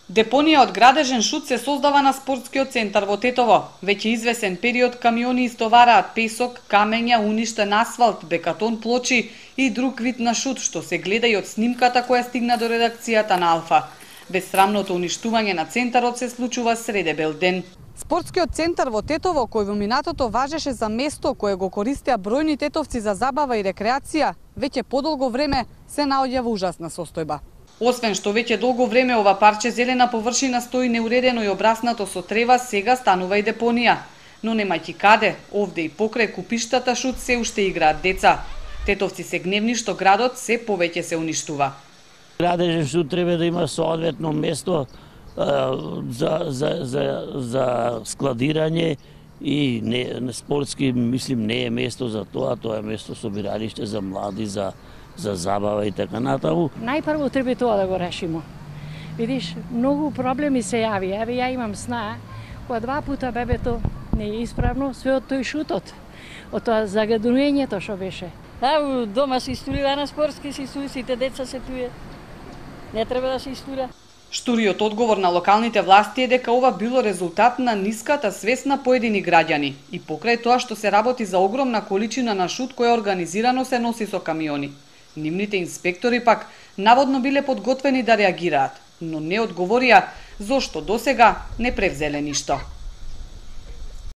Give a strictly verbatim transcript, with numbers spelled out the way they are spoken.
Депонија од градежен шут се создава на спортскиот центар во Тетово. Веќе извесен период камиони истовараат песок, камења, уништен асфалт, бекатон плочи и друг вид на шут, што се гледа и од снимката која стигна до редакцијата на Алфа. Бесрамното уништување на центарот се случува среде бел ден. Спортскиот центар во Тетово, кој во минатото важеше за место кое го користеа бројни тетовци за забава и рекреација, веќе подолго време се наоѓа во ужасна состојба. Освен што веќе долго време ова парче зелена површина стои неуредено и обраснато со трева, сега станува и депонија. Но немајќи каде, овде и покрај купиштата шут се уште играат деца. Тетовци се гневни што градот се повеќе се уништува. Градежен шут треба да има соодветно место за, за, за, за складирање и не, спортски, мислим, не е место за тоа, тоа е место собиралиште за млади, за за забава и така натаму. Најпрво треба тоа да го решимо. Видиш, многу проблеми се јави. Еве ја имам сна, кога два пута бебето не е исправно, све од тој шутот, од тоа загадувањето што беше. А, дома се истурира на спортски, се истури, сите деца се туе. Не треба да се истура. Штуриот одговор на локалните власти е дека ова било резултат на ниската свест на поедини граѓани и покрај тоа што се работи за огромна количина на шут која организирано се носи со камиони. Нивните инспектори пак наводно биле подготвени да реагираат, но не одговорија зошто досега не превзеле ништо.